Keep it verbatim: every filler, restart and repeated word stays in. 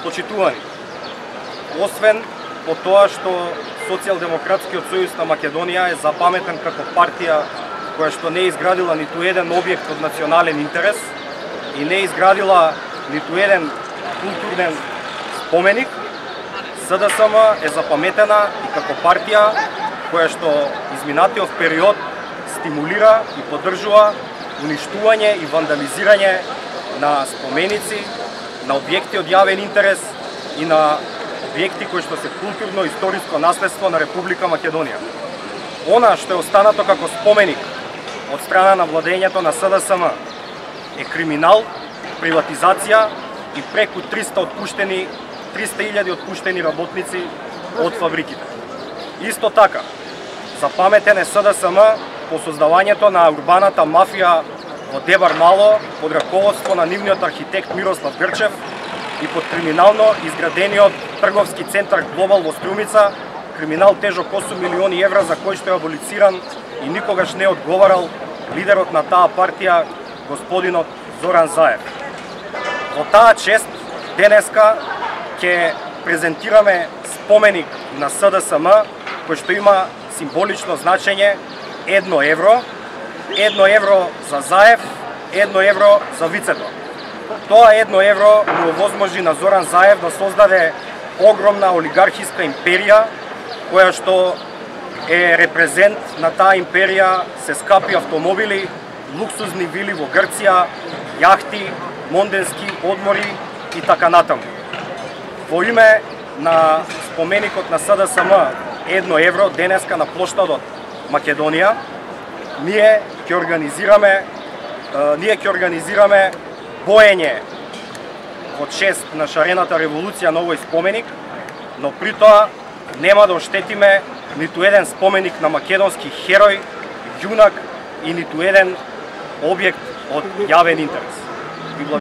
Почитувани, освен по тоа што Социјалдемократскиот сојуз на Македонија е запаметен како партија која што не изградила ниту еден објект од национален интерес и не изградила ниту еден културен споменик, СДСМ е запаметена и како партија која што изминатиот период стимулира и поддржува уништување и вандализирање на споменици, на објекти од јавен интерес и на објекти кои што се културно-историско наследство на Република Македонија. Она што е останато како споменик од страна на владењето на СДСМ е криминал, приватизација и преку триста отпуштени триста илјади отпуштени работници од фабриките. Исто така, запаметен е СДСМ по создавањето на урбаната мафија во Дебар Мало под раководство на нивниот архитект Мирослав Грчев и под криминално изградениот трговски центар Глобал во Струмица, криминал тежок осум милиони евра за кој што е аболициран и никогаш не одговарал лидерот на таа партија, господинот Зоран Заев. Во таа чест, денеска ќе презентираме споменик на СДСМ кој што има символично значење едно евро, едно евро за Заев, едно евро за Вицето. Тоа едно евро му овозможи на Зоран Заев да создаде огромна олигархиска империја, која што е репрезент на таа империја се скапи автомобили, луксузни вили во Грција, јахти, монденски одмори и така натаму. Во име на споменикот на СДСМ едно евро денеска на плоштадот Македонија, ние ќе организираме ние ќе организираме боење во чест на шарената револуција на овој споменик, но при тоа нема да оштетиме ниту еден споменик на македонски херој, јунак и ниту еден објект од јавен интерес.